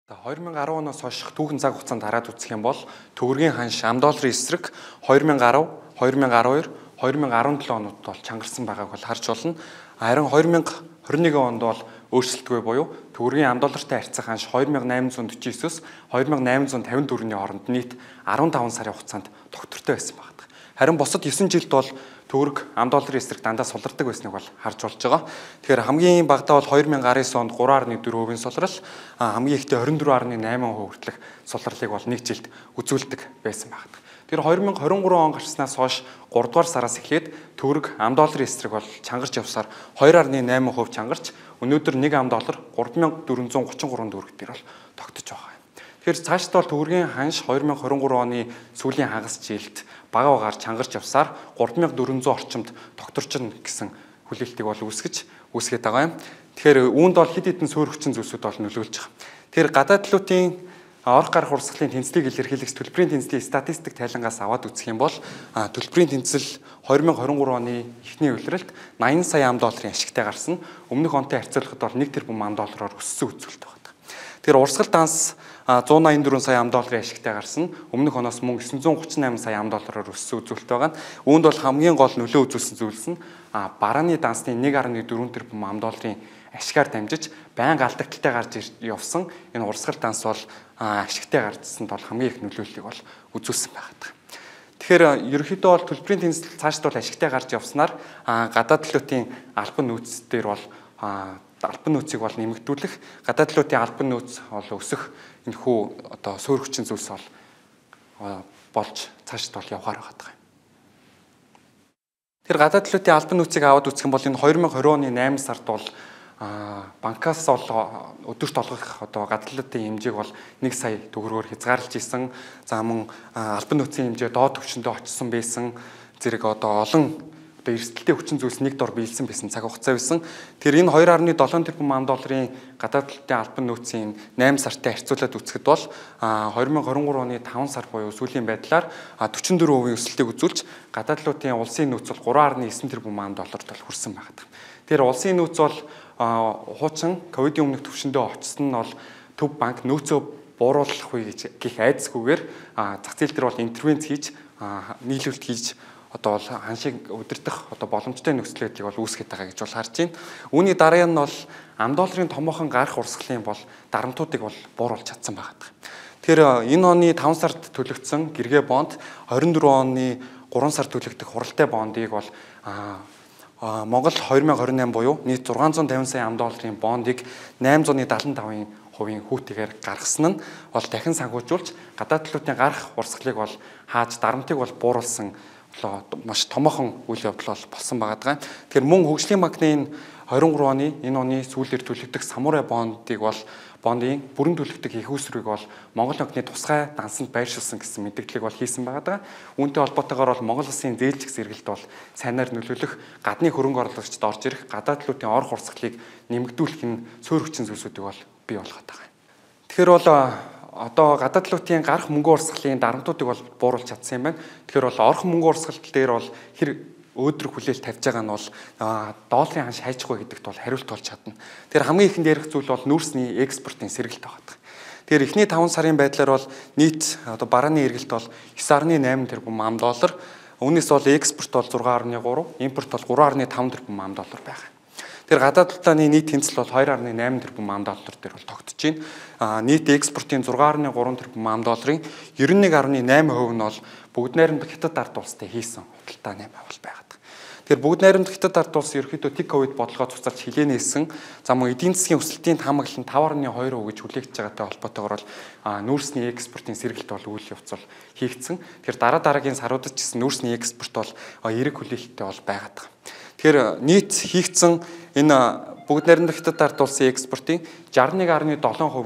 2010 оноос хойш түүхэн цаг хугацаанд хараад үзэх юм бол төгрөгийн ханш ам долларын эсрэг 2010, 2012, 2017 онууд бол чангарсан байгааг бол харж болно. Харин 2021 онд бол өөрчлөлтгүй буюу төгрөгийн ам доллартай харьцах ханш 2849-с 2854-ний хооронд нийт 15 сарын хугацаанд тогтвортой байсан байна. Харин бусад 9 жилд бол төгрөг ам долларын эсрэг дандаа сулардаг байсныг бол харж болж байгаа. Тэгэхээр хамгийн багадаа бол 2019 онд 3.4% сулрал, хамгийн ихдээ 24.8% хүртэлх сулралыг бол нэг жилд үзүүлдэг байсан байна. Тэр 2023 он гарснаас хойш 3 дугаар сараас эхлээд төгрөг ам долларын эсрэг бол чангарч явсаар 2.8% чангарч өнөөдөр 1 ам доллар 3433 төгрөг дээр бол тогтож байгаа. Тэгэхээр цаашдаа бол төгрөгийн ханш 2023 оны сүүлийн хагас жилд бага багаар чангарч явсаар 3400 орчимд тогтворчно гэсэн хүлээлтийг бол үүсгээд байгаа юм. Тэгэхээр үүнд бол хэд хэдэн суурь хүчин зүйлсүүд бол нөлөөлж байгаа. Тэгэхээр гадаад талуудын орох гарах урсгалын тэнцлийг илэрхийлэх төлбөрийн тэнцлийн статистик тайлангаас аваад үзэх юм бол төлбөрийн тэнцэл 2023 оны эхний улиралд 80 сая ам долларын ашигтай гарсан. Өмнөх онтой харьцуулахад бол 1 тэрбум ам доллараар өссөн үзүүлэлт байна. Тэгэхээр урсгал данс 184 сая ам долларын ашигтай гарсан. Өмнөх оноос мөн 938 сая ам доллараар өссөн үзүүлэлт байгаа. Үүнд бол хамгийн гол нөлөө үзүүлсэн зүйлс нь барааны дансны 1.4 тэрбум ам долларын ашигаар дамжиж байнга алдагдaltaй гарч явсан. Энэ урсгал данс бол ашигтай гарчсанд бол хамгийн их нөлөөллийг бол үзүүлсэн байна. Тэгэхээр ерөнхийдөө бол төлбөрийн тэнцэл цаашд бол ашигтай гарч явснаар гадаад талуудын албан нөөц дээр бол албан нөөцийг бол нэмэгдүүлэх, гадаад талуудын албан нөөц бол өсөх энэхүү одоо суурь хүчин зүйлс бол болж цаашд бол явахаар байгаа юм. Тэр гадаад талуудын албан нөөцийг аваад үзэх юм бол энэ 2020 оны 8 сард бол банкаас бол өдөрт олгох одоо гадаад талуудын хэмжээг бол 1 сая төгрөгөөр хязгаарлаж исэн. За мөн албан нөөцийн хэмжээ доод түвшиндээ очсон байсан. Зэрэг одоо олон эрсдэлтэй хүчин зүйлс нэг дор биелсэн байсан цаг хугацаа байсан. Тэр энэ 2.7 тэрбум ам долларын гадаад талын албан нөөцийн 8 сартай харьцуулаад үзэхэд бол 2023 оны 5 сар буюу сүүлийн байдлаар 44% өсөлтийг үзүүлж гадаад талын улсын нөөц бол 3.9 тэрбум ам долларт бол хүрсэн байна. Тэр улсын нөөц бол хуучин ковидын өмнөх түвшиндээ очсон нь бол Төв банк нөөцөө бууруулах үе гэх айдасгүйгээр зах зээл дээр бол интервенц хийж нийлүүлэлт хийж одоо бол ханшийг удирдах одоо боломжтой нөхцөл байдлыг бол үүсгэж байгаа гэж бол харж байна. Үүний дараа нь бол ам долларын томоохон гарах урсгалын бол дарамтуудыг бол бууруулж чадсан байгаа. Тэгэхээр энэ оны 5 сард төлөгдсөн гэргээ бонд 24 оны 3 сард төлөгдөх хуралтай бондыг бол Монгол 2028 буюу нийт 650 сая ам долларын бондыг 875% хүүтэйгээр гаргасан нь бол дахин санхүүжүүлж гадаад талуудын гарах урсгалыг бол хааж дарамтыг бол бууруулсан маш томоохон үйл явдал болсон байгаа. Тэгэхээр мөн хөгжлийн банкны 23 оны энэ оны сүүлээр төлөгдөх самурай бондыг бол бондын бүрэн төлөгдөх их үүсвэрийг бол Монгол банкны тусгай дансанд байршуулсан гэсэн мэдээллийг бол хийсэн байгаа. Үүнтэй холбоотойгоор бол Монгол улсын зээлжих зэрэгэлт бол сайнаар нөлөөлөх, гадны хөрөнгө оруулагчид орж ирэх, гадаад талуудын орох урсгалыг нэмэгдүүлэх нь суурь хүчин зүйлсүүдийг бол бий болгоод байгаа. Тэгэхээр бол одоо гадаад талуудын гарах мөнгө урсгалын дарамтуудыг бол бууруулж чадсан юм байна. Тэгэхээр бол орох мөнгө урсгал дээр бол хэр өөдрөг хүлээлт тавьж байгаа нь бол долларын ханш хайчихгүй гэдэгт бол хариулт болж чадна. Тэгэхээр хамгийн ихэнд ярих зүйл бол нүүрсний экспортын сэргэлт байгаа. Тэгэхээр эхний 5 сарын байдлаар бол нийт одоо барааны эргэлт бол 9.8 тэрбум ам доллар, үүнээс бол экспорт бол 6.3, импорт бол 3.5 тэрбум ам доллар байгаа. Тэр гадаад талын нийт тэнцэл бол 2.8 тэрбум ам доллар дээр бол тогтож байна. Нийт экспортын 6.3 тэрбум ам долларын 91.8% нь бол бүгд найрамдах хятад ард улстай хийсэн худалдаа 8% бол байгаа. Тэгэхээр бүгд найрамдах хятад ард улс ерөөхдөө тик ковид бодлогоо цуцалж хилээнээсэн. За мөн эдийн засгийн өсөлтийн хамаглал нь 5.2% гэж хүлээгдэж байгаатай холбоотойгоор бол нүүрсний экспортын сэргэлт бол үйл явц бол хийгдсэн. Тэгэхээр дараагийн саруудад ч гэсэн нүүрсний экспорт бол эерэг хүлээлттэй бол байгаад байгаа. Тэгэхээр нийт хийгдсэн энэ бүгд найрамдах хятад ард улсын экспортын 61.7% нь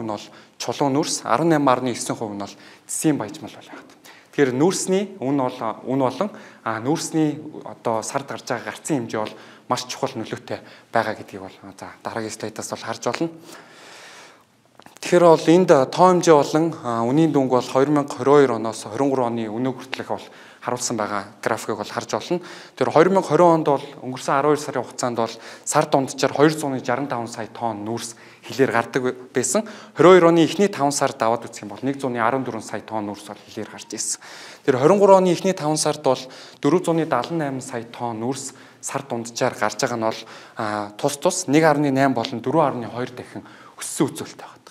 бол чулуун нүүрс, 18.9% нь бол цэсийн баяжмал байна. Тэгэхээр нүүрсний үн болон нүүрсний одоо сард гарч байгаа гарцын хэмжээ бол маш чухал нөлөөтэй байгаа гэдгийг бол за дараагийн слайдаас бол харж болно. Тэгэхээр бол энд тоо хэмжээ болон үнийн дүнг бол 2022 оноос 23 оны өнөө хүртэлх бол харуулсан байгаа графикыг бол харж болно. Тэр 2020 онд бол өнгөрсөн 12 сарын хугацаанд бол сар дунджаар 265 сая тонн нүүрс хилээр гардаг байсан. 22 оны эхний 5 сард аваад үзэх юм бол 114 сая тонн нүүрс бол хилээр гарч ирсэн. Тэр 23 оны эхний 5 сард бол 478 сая тонн нүүрс сар дунджаар гарч байгаа нь бол тус 1.8 болон 4.2 дахин өссөн үзүүлэлт байна.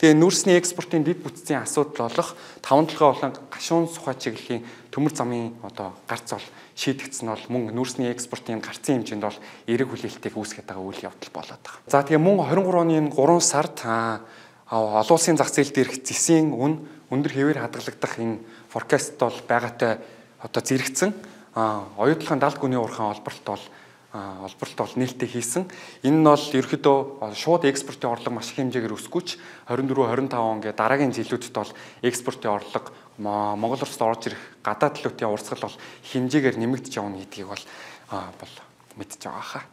Тэгээ нүүрсний экспортын дэд бүтцийн асуудал болох 5 толгой болон гашуун сухай чиглэлийн төмөр замын гарц бол шийдэгдсэн бол мөн нүүрсний экспортын гарцын хэмжээнд бол эерэг хүлээлтийг үүсгэж байгаа үйл явдал болоод байгаа. За тэгээ мөн 23 оны 3 сард олон улсын зах зээл дээрх зэсийн үн өндөр хэвээр хадгалагдах энэ форкаст бол байгаатай зэрэгцэн оюутлахын далд гүний уурхайн олборлт бол нээлттэй хийсэн. Энэ нь бол ерөөхдөө шууд экспортын орлого маш их хэмжээгээр өсгөж 24-25 он гэ дараагийн жилүүдэд бол экспортын орлого Монгол улсад орж ирэх гадаад төлөвтийн урсгал бол хэмжээгээр нэмэгдэж явна гэдгийг бол мэдж байгаа хаа.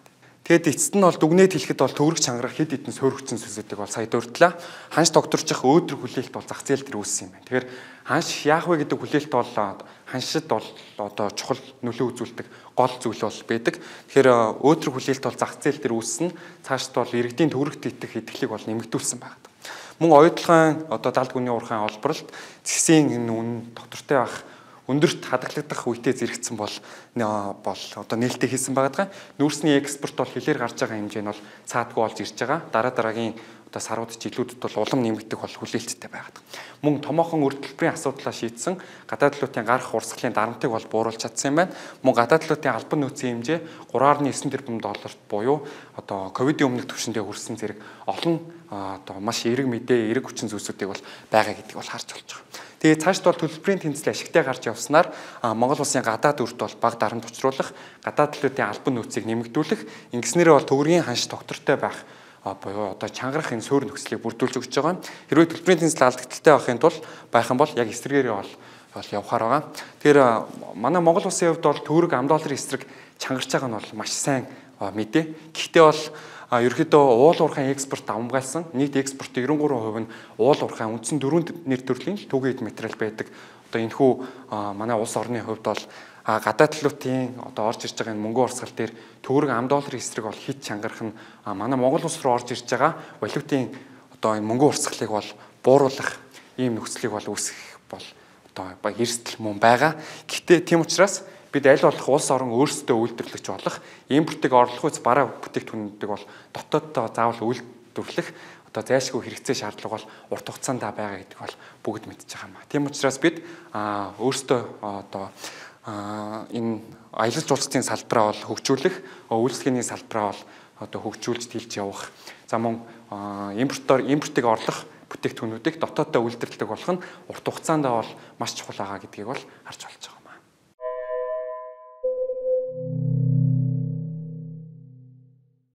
Тэгэд эцэст нь бол дүгнээд хэлэхэд бол төгрөг чангарах хэд хэдэн суурьгцэн сүсүүдийг бол сая дурдлаа. Ханш тогтворчих өөдрөг хүлээлт бол зах зээл дээр үүссэн юм байна. Тэгэхээр ханш яах вэ гэдэг хүлээлт бол ханшид бол чухал нөлөө үзүүлдэг гол зүйл бол байдаг. Тэгэхээр өөдрөг хүлээлт бол зах зээл дээр үүссэн. Цаашд бол иргэдийн төгрөгт итгэх итгэлийг бол нэмэгдүүлсэн байна. Мөн оюутлахын далд гүний уурхайн олборлт зэсийн энэ үн доктортой байх өндөрт хадгалагдах үедээ зэрэгцсэн бол нээлттэй хийсэн байгаа. Нүүрсний экспорт бол хилээр гарч байгаа хэмжээ нь бол цаадгүй болж ирж байгаа. Дараагийн сарууд жилүүдэд бол улам нэмэгдэх бол хүлээлттэй байгаа. Мөн томоохон үр төлбөрийн асуудлаа шийдсэн гадаад төлөвтийн гарах урсгалын дарамтыг бол бууруулж чадсан юм байна. Мөн гадаад төлөвтийн албан нөөцийн хэмжээ 3.9 тэрбум долларт буюу ковидын өмнөх түвшиндээ хүрсэн зэрэг олон маш эерэг мэдээ, эерэг хүчин зүйлсүүдийг бол байгаа гэдгийг бол харж болж байгаа. Тэгээ цаашд бол төлбөрийн тэнцэл ашигтай гарч явснаар Монгол улсын гадаад өрт бол бага дарамт учруулах, гадаад төлөвтийн албан нөөцийг нэмэгдүүлэх, ингэснээр бол төгрөгийн ханш доктортой байх буюу чангарах энэ суурь нөхцөлийг бүрдүүлж өгч байгаа. Хэрвээ төлбөрийн тэнцэл алдагдaltaй байхын тулд байх юм бол яг эсрэгээрээ бол явахаар байгаа. Тэгэхээр манай Монгол улсын хувьд бол төгрөг $10 эсрэг чангарч байгаа нь бол маш сайн мэдээ. Гэхдээ бол ерөөхдөө уул уурхайн экспорт давмгайлсан. Нийт экспортын 93% нь уул уурхайн үндсэн 4 нэр төрлийн түгээх материал байдаг. Энэ хүү манай улс орны хувьд бол гадаад төлөвтийн орж ирж байгаа энэ мөнгө урсгал дээр төгрөг $10 эсрэг бол хит чангарах нь манай Монгол улс руу орж ирж байгаа валютын энэ мөнгө урсгалыг бол бууруулах ийм нөхцөлийг бол үүсгэх бол эрсдэл мөн байгаа. Гэхдээ тийм учраас бид аль болох улс орон өөрсдөө үйлдвэрлэж болох импортыг орлох үс бараа бүтээгдэхүүнүүдийг бол дотооддоо заавал үйлдвэрлэх зайлшгүй хэрэгцээ шаардлага бол урт хугацаанд байгаа гэдэг бол бүгд мэдж байгаа юм. Тийм учраас бид өөрсдөө энэ аялал жуулчлалын салбараа бол хөгжүүлэх, үйлчлэгээний салбараа бол хөгжүүлж тэлж явах. За мөн импортыг орлох бүтээгдэхүүнүүдийг дотооддоо үйлдвэрлэдэг болох нь урт хугацаанд бол маш чухал байгаа гэдгийг бол харж болж байгаа.